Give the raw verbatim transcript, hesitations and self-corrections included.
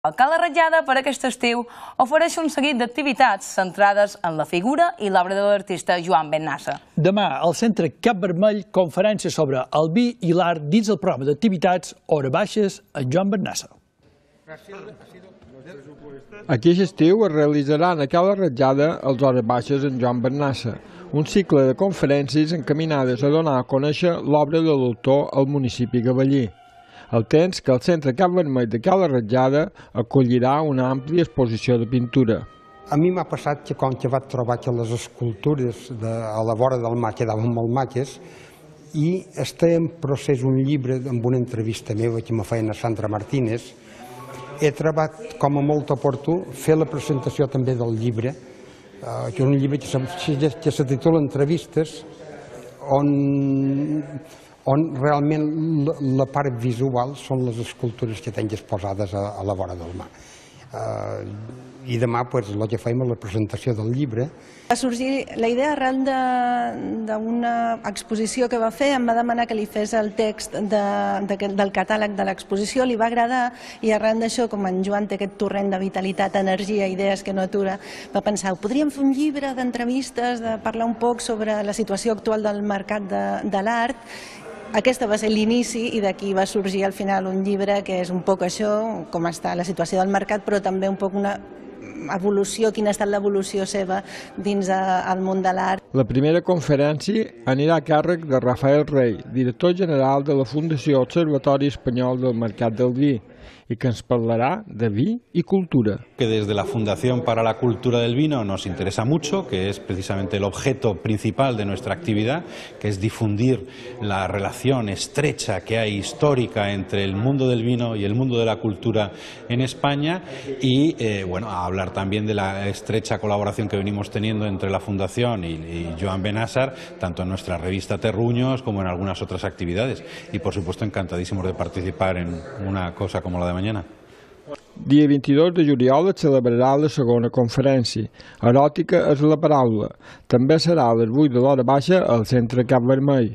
El Cala Ratllada per aquest estiu ofereix un seguit d'activitats centrades en la figura i l'obra de l'artista Joan Bennassa. Demà al Centre Cap Vermell, conferència sobre el vi i l'art dins el programa d'activitats Hores Baixes amb Joan Bennassa. Aquest estiu es realitzaran a Cala Ratllada els Hores Baixes amb Joan Bennassa, un cicle de conferències encaminades a donar a conèixer l'obra de l'autor al municipi gavellí. El temps que el Centre Cap Vermell de Cala Ratllada acollirà una àmplia exposició de pintura. A mi m'ha passat que quan que vaig trobar que les escultures de, a la vora del mar quedaven molt maques i està en procés un llibre amb una entrevista meva que me feien a Sandra Martínez. He trobat com a molt oportú fer la presentació també del llibre, eh, que és un llibre que se, que se titula Entrevistes, on... on realment la part visual són les escultures que tinc exposades a, a la vora del mar. Uh, I demà pues, el que fem és la presentació del llibre. Va sorgir la idea arran d'una exposició que va fer, em va demanar que li fes el text de, de, del catàleg de l'exposició, li va agradar i arran d'això, com en Joan té aquest torrent de vitalitat, energia, idees que no atura, va pensar, podríem fer un llibre d'entrevistes, de parlar un poc sobre la situació actual del mercat de, de l'art. Aquesta va ser l'inici i d'aquí va sorgir al final un llibre que és un poc això, com està la situació del mercat, però també un poc una evolució, quina ha estat l'evolució seva dins el món de l'art. La primera conferència anirà a càrrec de Rafael Rey, director general de la Fundació Observatori Espanyol del Mercat del Vi, y que nos hablará de vi y cultura. Que desde la Fundación para la Cultura del Vino nos interesa mucho, que es precisamente el objeto principal de nuestra actividad, que es difundir la relación estrecha que hay histórica entre el mundo del vino y el mundo de la cultura en España y eh, bueno, a hablar también de la estrecha colaboración que venimos teniendo entre la Fundación y, y Joan Bennassa, tanto en nuestra revista Terruños como en algunas otras actividades. Y por supuesto encantadísimos de participar en una cosa como la de mañana. Dia vint-i-dos de juliol es celebrarà la segona conferència. Eròtica és la paraula. També serà a les vuit de l'hora baixa al Centre Cap Vermell.